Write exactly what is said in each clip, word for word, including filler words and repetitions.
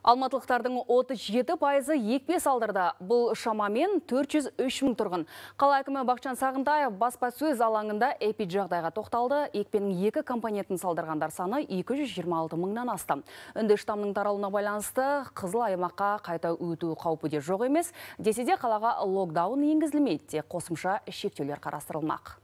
Алматылықтардың отыз жеті пайызы екпе салдырды. Бұл шамамен төрт жүз үш мың тұрғын. Қала әкімі Бақытжан Сағынтаев баспасөз алаңында эпиджағдайға тоқталды. Екпенің екі компонентін салдырғандар саны екі жүз жиырма алты мыңнан асты. Үнді штамның таралуына байланысты қызыл аймаққа қайта өту қаупі де жоқ емес. Десе де қалаға локдаун енгізілмейді, тек қосымша шектеулер қарастырылмақ.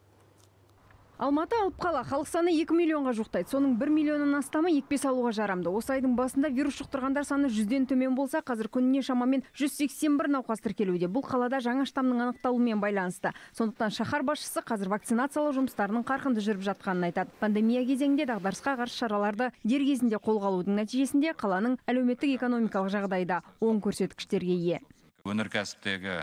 Алматы алып қала, халық саны екі миллионға жуықтайды. Соның бір миллионнан астамы екпе салуға жарамды. Осы айдың басында вирус жұқтырғандар саны жүзден төмен болса, қазір күніне шамамен жүз сексен бір науқас тіркелуде. Бұл қалада жаңа штамның анықталуымен байланысты. Сондықтан шаһар басшысы қазір вакцинациялау жұмыстарының қарқынды жүріп жатқанын айтады. Пандемия кезеңінде дағдарысқа қарсы шараларды дер кезінде қолға алудың нәтижесінде қаланың әлеуметтік экономикалық жағдайы да оң көрсеткіштерге ие. Өнеркәсіптегі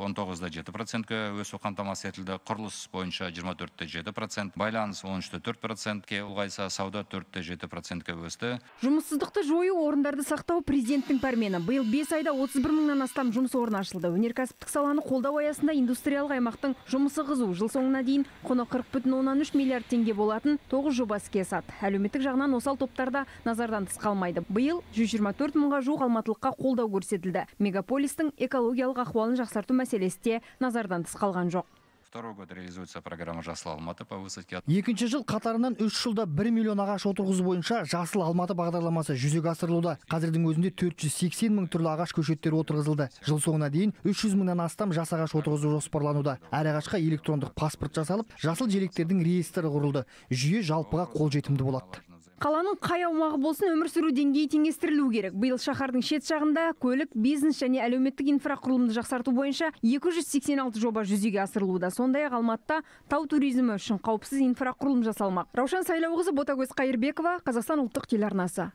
он тоғыз да жеті процентке өсу қамтамасыз етілді. Құрылыс бойынша жиырма төрт те жеті процент, байланыс он үш те төрт процентке ұлғайса, сауда төрт те жеті процентке өсті. Жұмыссыздықты жою, орындарды сақтау президенттің пәрмені. Биыл бес айда отыз бір мыңнан астам жұмыс орны ашылды. Өнеркәсіптік саланы қолдау аясында индустриялық аймақтың жұмысы қызу. Жыл соңына дейін құны қырық бүтін оннан үш миллиард теңге болатын тоғыз жоба іске асады. Әлеуметтік жағынан осал топтарда назардан тыс қалмайды. Биыл жүз жиырма төрт мыңға жуық алматылыққа қолдау көрсетілді. Мегаполистің экологиялық ахуалын жақсарту мәселесі де назардан тыс қалған жоқ. Второй год реализуется программа «Жасыл Алматы» по высадке. Екінші жыл қатарынан үш жылда бір миллион ағаш отырғызу бойынша Жасыл Алматы бағдарламасы жүзеге асырылуда. Қазірдің өзінде төрт жүз сексен мың түрлі ағаш көшеттері отырғызылды. Жыл соңына дейін үш жүз мыңнан астам жас ағаш отырғызу жоспарлануда. Әр ағашқа электрондық паспорт жасалып, жасыл желектердің реестрі құрылды. Жүйе жалпыға қолжетімді болады. Қаланың қай аумағы болсын өмір сүру деңгейі теңестірілу керек. Биыл шаһардың шет жағында көлік, бизнес және әлеуметтік инфрақұрылымды жақсарту бойынша екі жүз сексен алты жоба жүзеге асырылуда. Сондай-ақ Алматыда тау туризмі үшін қауіпсіз инфрақұрылым жасалмақ. Раушан Сайлауқызы, Ботагөз Қайырбекова, Қазақстан ұлттық телеарнасы.